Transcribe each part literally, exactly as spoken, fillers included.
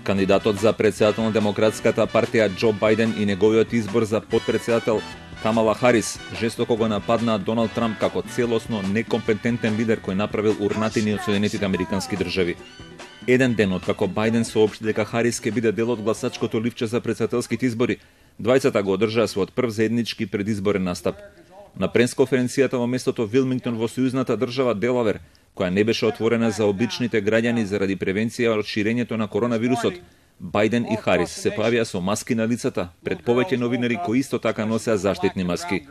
Кандидатот за председател на Демократската партија Џо Бајден и неговиот избор за потпредседател Камала Харис жестоко го нападнаа Доналд Трамп како целосно некомпетентен лидер кој направил урнатини од Соединетите Американски држави. Еден ден откако Бајден соопшти дека Харис ќе биде дел од гласачкото ливче за претседателските избори, двајцата го одржаа својот прв заеднички предизборен настап. На пресконференцијата во местото Вилмингтон во сојузната држава Делавер, која не беше отворена за обичните граѓани заради превенција од ширењето на коронавирусот, Бајден и Харис се појавија со маски на лицата пред повеќе новинари кои исто така носеа заштитни маски.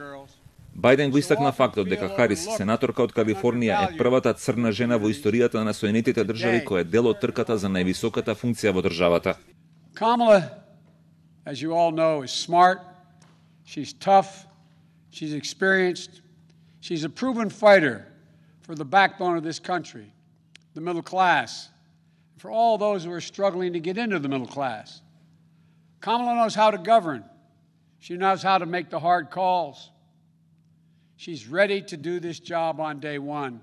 Бајден го истакна фактот дека Харис, сенаторка од Калифорнија, е првата црна жена во историјата на Соединетите држави која е дел од трката за највисоката функција во државата. Kamala, as you all know, is smart. She's tough. She's experienced. She's a proven fighter for the backbone of this country, the middle class, for all those who are struggling to get into the middle class. Kamala knows how to govern. She knows how to make the hard calls. She's ready to do this job on day one.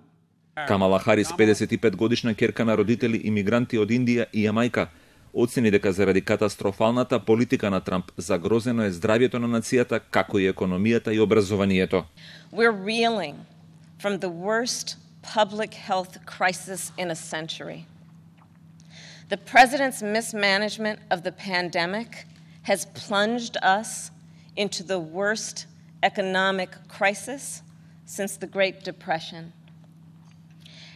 Камала Харис, педесет и пет годишна ќерка на родители имигранти од Индија и Јамајка, оцени дека заради катастрофалната политика на Трамп загрозено е здравјето на нацијата, како и економијата и образованието. We're reeling from the worst public health crisis in a century. The president's mismanagement of the pandemic has plunged us into the worst economic crisis since the Great Depression.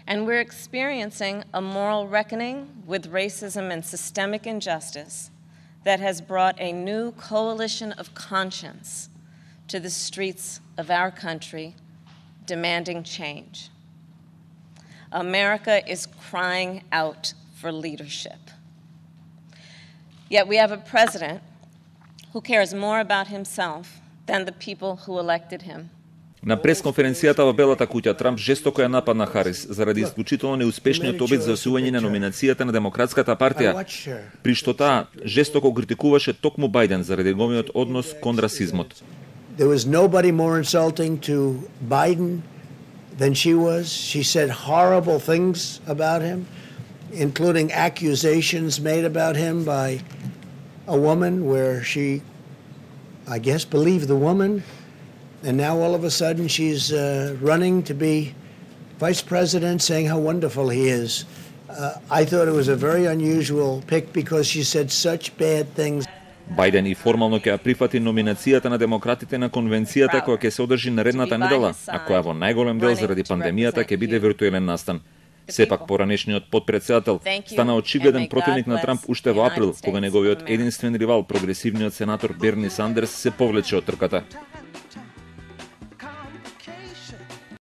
And we're experiencing a moral reckoning with racism and systemic injustice that has brought a new coalition of conscience to the streets of our country, demanding change. America is crying out for leadership. Yet we have a president who cares more about himself than the people who elected him. На пресконференцијата во Белата куќа Трамп жестоко ја нападна Харис заради исклучително неуспешниот обид за освојување на номинацијата на Демократската партија, при што таа жестоко критикуваше токму Бајден заради неговиот однос кон расизмот. There was nobody more insulting to Biden than she was. She said horrible things about him, including accusations made about him by a woman where she, I guess, believed the woman. And now all of a sudden she's uh, running to be vice president, saying how wonderful he is. Uh, I thought it was a very unusual pick because she said such bad things. Бајден и формално ќе ја прифати номинацијата на демократите на конвенцијата која ќе се одржи наредната недела, а која во најголем дел заради пандемијата ќе биде виртуелен настан. Сепак поранешниот потпредседател стана очигледен противник на Трамп уште во април, кога неговиот единствен ривал, прогресивниот сенатор Берни Сандерс, се повлече од трката.